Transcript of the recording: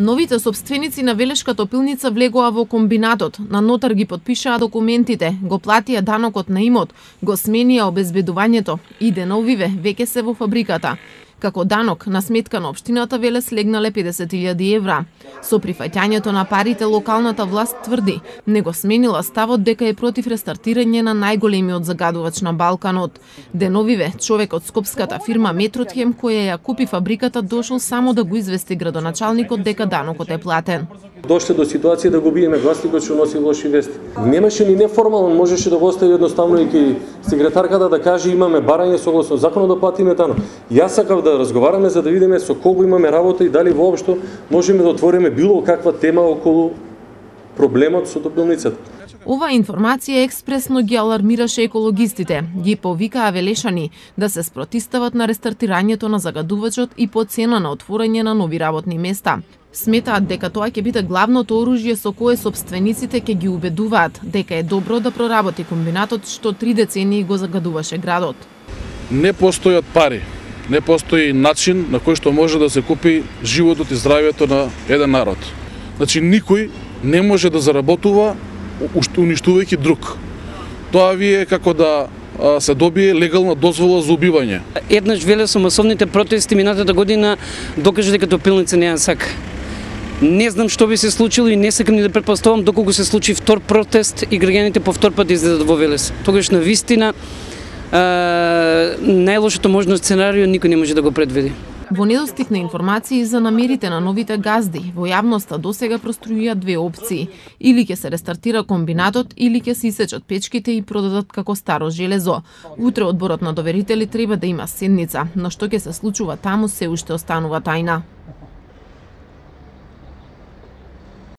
Новите сопственици на Велешка топилница влегоа во комбинатот, на нотар ги потпишаа документите, го платија данокот на имот, го сменија обезбедувањето и деновиве веќе се во фабриката. Како данок на сметка на општината Велес легнале 50.000 евра. Со прифаќањето на парите локалната власт тврди, не го сменила ставот дека е против рестартирање на најголемиот загадувач на Балканот. Деновиве човек од скопската фирма Метротхем која ја купи фабриката дошол само да го извести градоначалникот дека данокот е платен. Дошле до ситуација да го биеме гласникот што носи лоши вести. Немаше ни неформално, можеше да го остави едноставно и секретарката да каже имаме барање согласно законот да платиме данок. Јас сакав да разговараме за да видиме со колку имаме работа и дали воопшто можеме да отвориме било каква тема околу проблемот со топилницата. Ова информација експресно ги алармираше екологистите, ги повикаа велешани да се спротистават на рестартирањето на загадувачот и по цена на отворање на нови работни места. Сметаат дека тоа ќе биде главното оружје со кое сопствениците ќе ги убедуваат дека е добро да проработи комбинатот што 3 децении го загадуваше градот. Не постојат пари, не постои начин на кој што може да се купи животот и здравјето на еден народ. Значи никој не може да заработува уништувајќи друг. Тоа ви е како да се добие легална дозвола за убивање. Еднаш Велес со масовните протести минатата година докажа дека топилница не ја сака. Не знам што би се случило и не сакам ни да претпоставам доколку се случи втор протест и граѓаните по втор пат излезат во Велес. Тогаш на вистина најлошото можно сценарио никој не може да го предвиди. Во недостиг на информации за намерите на новите газди, во јавноста досега проструија две опции. Или ќе се рестартира комбинатот, или ќе се исечат печките и продадат како старо железо. Утре одборот на доверители треба да има седница, но што ќе се случува таму се уште останува тајна.